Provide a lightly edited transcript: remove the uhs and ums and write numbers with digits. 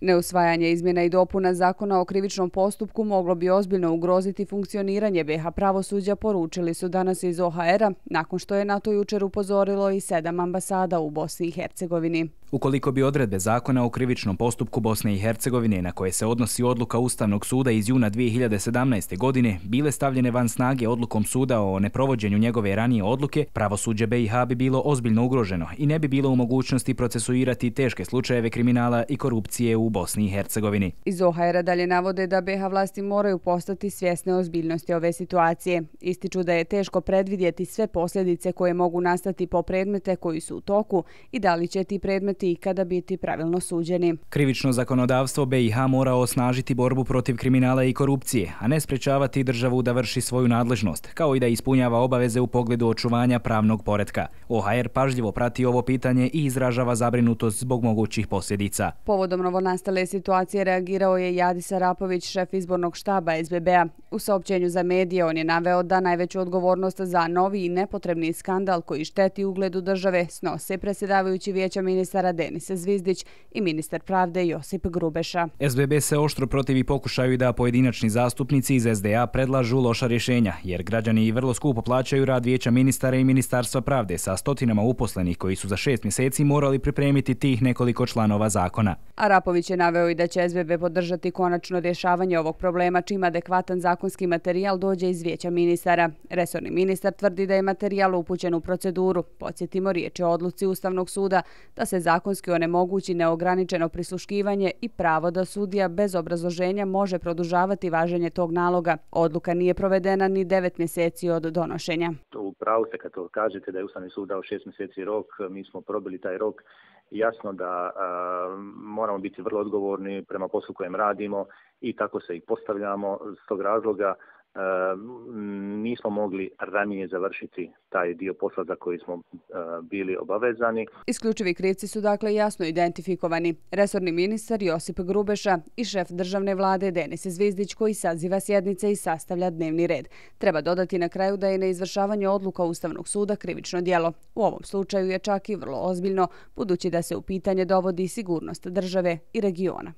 Neusvajanje izmjena i dopuna Zakona o krivičnom postupku moglo bi ozbiljno ugroziti funkcioniranje BiH pravosuđa, poručili su danas iz OHR-a, nakon što je na to jučer upozorilo i 7 ambasada u Bosni i Hercegovini. Ukoliko bi odredbe Zakona o krivičnom postupku Bosne i Hercegovine, na koje se odnosi odluka Ustavnog suda iz juna 2017. godine, bile stavljene van snage odlukom suda o neprovođenju njegove ranije odluke, pravosuđe BiH bi bilo ozbiljno ugroženo i ne bi bilo u mogućnosti procesuirati teške slučajeve kriminala i korupcije u Bosni i Hercegovini. Iz OHR-a dalje navode da BiH vlasti moraju postati svjesne ozbiljnosti ove situacije. Ističu da je teško predvidjeti sve posljedice koje mogu nastati po predmete koji su u toku i da li će ti predmeti ikada biti pravilno suđeni. Krivično zakonodavstvo BiH mora osnažiti borbu protiv kriminala i korupcije, a ne sprečavati državu da vrši svoju nadležnost, kao i da ispunjava obaveze u pogledu očuvanja pravnog poretka. OHR pažljivo prati ovo pitanje i izražava zabrinutost zbog mogućih posljedica. Povodom novonastale situacije reagirao je Jadis Arapović, šef izbornog štaba SBB-a. U saopćenju za medije on je naveo da najveću odgovornost za novi i nepotrebni skandal koji šteti ugledu države snose predsjedavajući Vijeća ministara Denis Zvizdić i ministar pravde Josip Grubeša. SBB se oštro protivi pokušaju da pojedinačni zastupnici iz SDA predlažu loša rješenja, jer građani vrlo skupo plaćaju rad Vijeća ministara i Ministarstva pravde sa stotinama uposlenih koji su za 6 mjeseci morali pripremiti tih nekoliko članova zakona. Arapović je naveo i da će SBB podržati konačno rješavanje ovog problema čim adekvatan zakonski materijal dođe iz Vijeća ministara. Resorni ministar tvrdi da je materijal upućen u proceduru. Podsjetimo, riječ je o odluci Ustavnog suda da se zakonski onemogući neograničeno prisluškivanje i pravo da sudija bez obrazloženja može produžavati važenje tog naloga. Odluka nije provedena ni 9 mjeseci od donošenja. U pravu ste kad to kažete da je Ustavni sud dao 6 mjeseci rok, mi smo probili taj rok. Jasno da moramo biti vrlo odgovorni prema poslu kojem radimo i tako se i postavljamo. S tog razloga nismo mogli ranije završiti taj dio posla za koji smo bili obavezani. Isključivi krivci su dakle jasno identifikovani. Resorni ministar Josip Grubeša i šef državne vlade Denis Zvizdić koji saziva sjednice i sastavlja dnevni red. Treba dodati na kraju da je neizvršavanje odluka Ustavnog suda krivično djelo. U ovom slučaju je čak i vrlo ozbiljno, budući da se u pitanje dovodi sigurnost države i regiona.